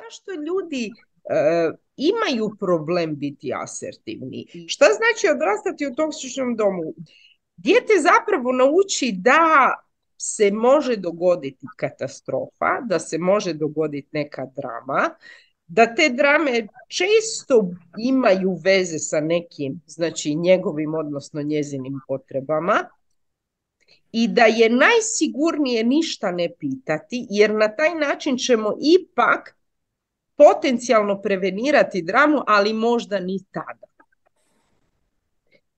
zašto ljudi imaju problem biti asertivni? Šta znači odrastati u toksičnom domu? Dijete zapravo nauči da se može dogoditi katastrofa, da se može dogoditi neka drama, da te drame često imaju veze sa nekim, znači njegovim, odnosno njezinim potrebama, i da je najsigurnije ništa ne pitati, jer na taj način ćemo ipak potencijalno prevenirati dramu, ali možda ni tada.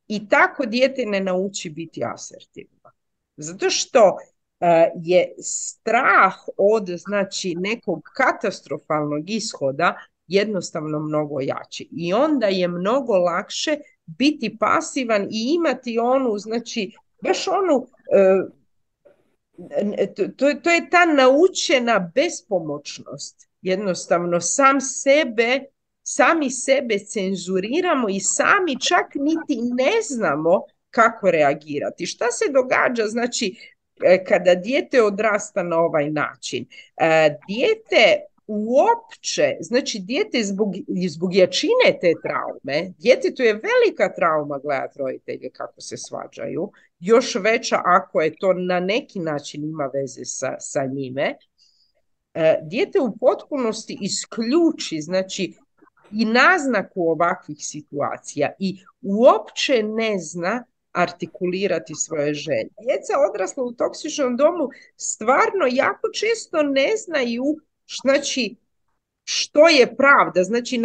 I tako dijete ne nauči biti asertivno. Zato što je strah od, znači, nekog katastrofalnog ishoda jednostavno mnogo jači. I onda je mnogo lakše biti pasivan i imati onu, znači, baš onu, to je ta naučena bespomoćnost. Jednostavno sami sebe cenzuriramo i sami čak niti ne znamo kako reagirati. Šta se događa, znači, kada dijete odrasta na ovaj način? Dijete uopće, znači dijete zbog jačine te traume, djetetu je velika trauma gledati roditelje kako se svađaju, još veća ako je to na neki način ima veze sa njime. Dijete u potpunosti isključi, znači, i naznaku ovakvih situacija i uopće ne zna artikulirati svoje želje. Djeca odrasla u toksičnom domu stvarno jako često ne znaju, znači, što je pravda, znači,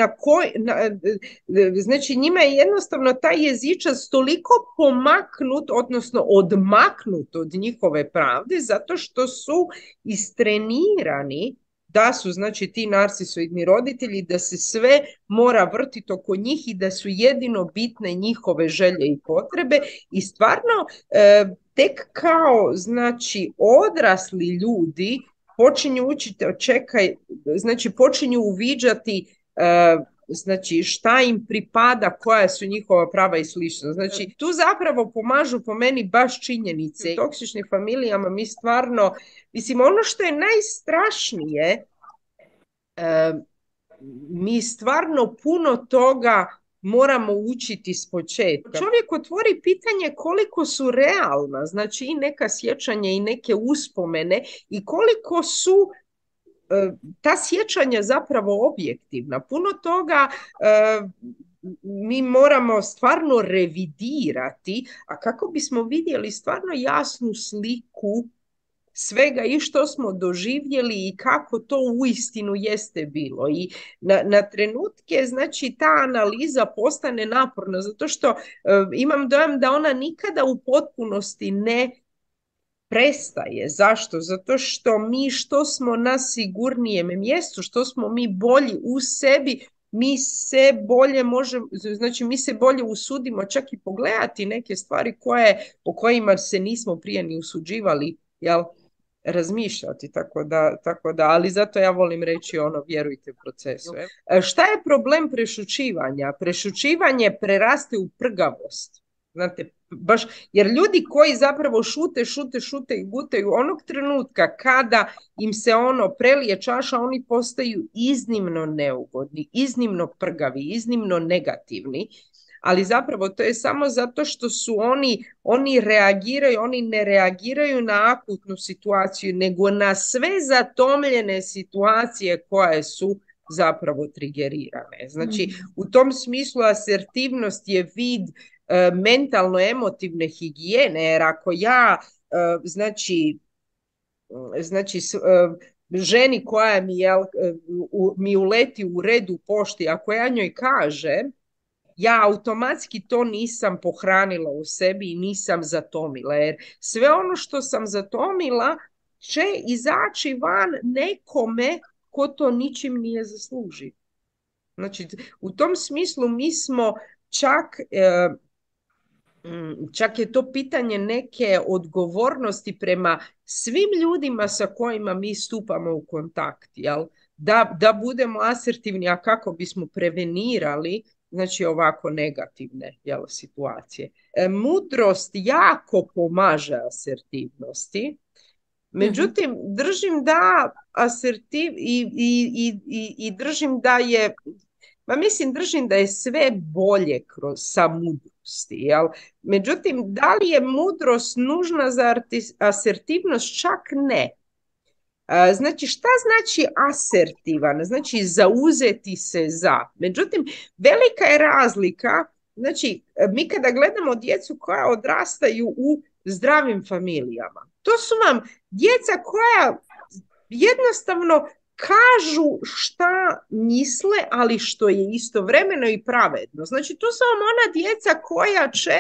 znači njima je jednostavno taj jezičac toliko pomaknut, odnosno odmaknut od njihove pravde, zato što su istrenirani da su, znači, ti narcisoidni roditelji, da se sve mora vrtiti oko njih i da su jedino bitne njihove želje i potrebe. I stvarno tek kao, znači, odrasli ljudi počinju učiti, znači počinju uviđati znači šta im pripada, koja su njihova prava i slično. Znači tu zapravo pomažu po meni baš činjenice. U toksičnim familijama mi stvarno, mislim, ono što je najstrašnije, mi stvarno puno toga moramo učiti s početka. Čovjek otvori pitanje koliko su realna, znači i neka sjećanja i neke uspomene i koliko su ta sjećanja zapravo objektivna. Puno toga mi moramo stvarno revidirati, a kako bismo vidjeli stvarno jasnu sliku svega i što smo doživjeli i kako to uistinu jeste bilo. I na trenutke, znači, ta analiza postane naporna, zato što imam dojam da ona nikada u potpunosti ne prestaje. Zašto? Zato što mi što smo na sigurnijem mjestu, što smo mi bolji u sebi, mi se bolje možemo, znači mi se bolje usudimo čak i pogledati neke stvari o kojima se nismo prije ni usuđivali, jel, razmišljati, tako da, ali zato ja volim reći ono, vjerujte u procesu. Šta je problem prešućivanja? Prešućivanje preraste u prgavost. Znate, baš, jer ljudi koji zapravo šute i gutaju, onog trenutka kada im se ono prelije čaša, oni postaju iznimno neugodni, iznimno prgavi, iznimno negativni, ali zapravo to je samo zato što su oni reagiraju, oni ne reagiraju na akutnu situaciju, nego na sve zatomljene situacije koje su zapravo trigerirane. Znači, u tom smislu asertivnost je vid mentalno-emotivne higijene, jer ako ja, znači ženi koja mi uleti u redu pošti, ako ja njoj kažem, ja automatski to nisam pohranila u sebi i nisam zatomila, jer sve ono što sam zatomila će izaći van nekome ko to ničim nije zaslužio. Znači, u tom smislu mi smo čak je to pitanje neke odgovornosti prema svim ljudima sa kojima mi stupamo u kontakt, jel? Da budemo asertivni, a kako bismo prevenirali, znači, ovako negativne, jel, situacije. Mudrost jako pomaže asertivnosti, Mhm. Međutim, držim da i držim da je, ma mislim, držim da je sve bolje sa mudrosti, jel? Međutim, da li je mudrost nužna za asertivnost? Čak ne. Znači, šta znači asertivan? Znači, zauzeti se za. Međutim, velika je razlika. Znači, mi kada gledamo djecu koja odrastaju u zdravim familijama, to su vam djeca koja jednostavno kažu šta misle, ali što je istovremeno i pravedno. Znači, to su vam ona djeca koja će,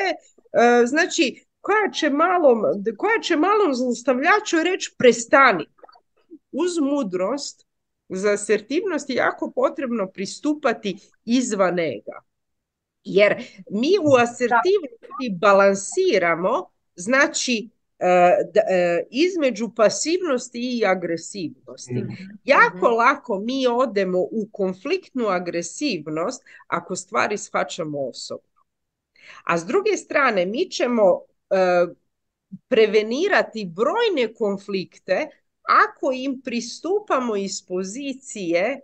znači, koja će malom zlostavljaču reći prestani. Uz mudrost za asertivnost je jako potrebno pristupati izvan ega. Jer mi u asertivnosti balansiramo, znači, između pasivnosti i agresivnosti. Jako lako mi odemo u konfliktnu agresivnost ako stvari shvaćamo osobno. A s druge strane, mi ćemo prevenirati brojne konflikte ako im pristupamo iz pozicije,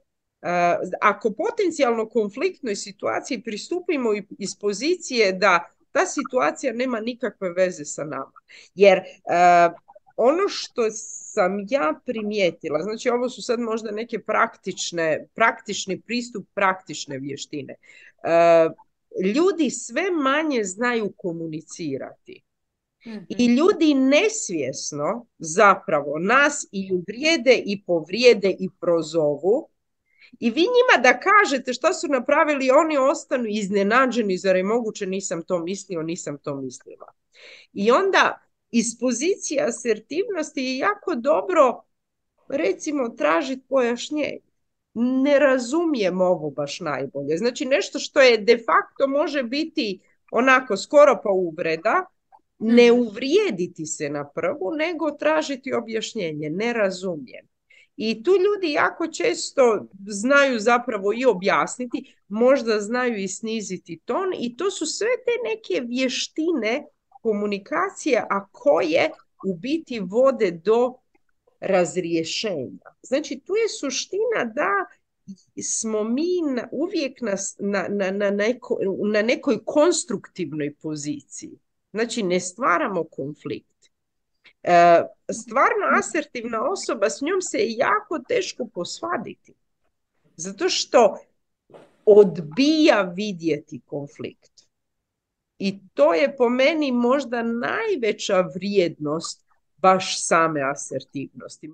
ako potencijalno konfliktnoj situaciji pristupimo iz pozicije da ta situacija nema nikakve veze sa nama. Jer ono što sam ja primijetila, znači ovo su sad možda neke praktični pristup, praktične vještine. Ljudi sve manje znaju komunicirati. I ljudi nesvjesno zapravo nas i uvrijede i povrijede i prozovu. I vi njima da kažete šta su napravili, oni ostanu iznenađeni, zar je moguće, nisam to mislio, nisam to mislila. I onda iz pozicije asertivnosti je jako dobro, recimo, tražiti pojašnjenje. Ne razumijem ovo baš najbolje. Znači nešto što je de facto može biti onako skoro pa uvreda, ne uvrijediti se na prvu, nego tražiti objašnjenje. Ne razumijem. I tu ljudi jako često znaju zapravo i objasniti, možda znaju i sniziti ton, i to su sve te neke vještine komunikacije, a koje u biti vode do razriješenja. Znači, tu je suština da smo mi uvijek na nekoj konstruktivnoj poziciji. Znači, ne stvaramo konflikt. Stvarno asertivna osoba, s njom se je jako teško posvaditi. Zato što odbija vidjeti konflikt. I to je po meni možda najveća vrijednost baš same asertivnosti.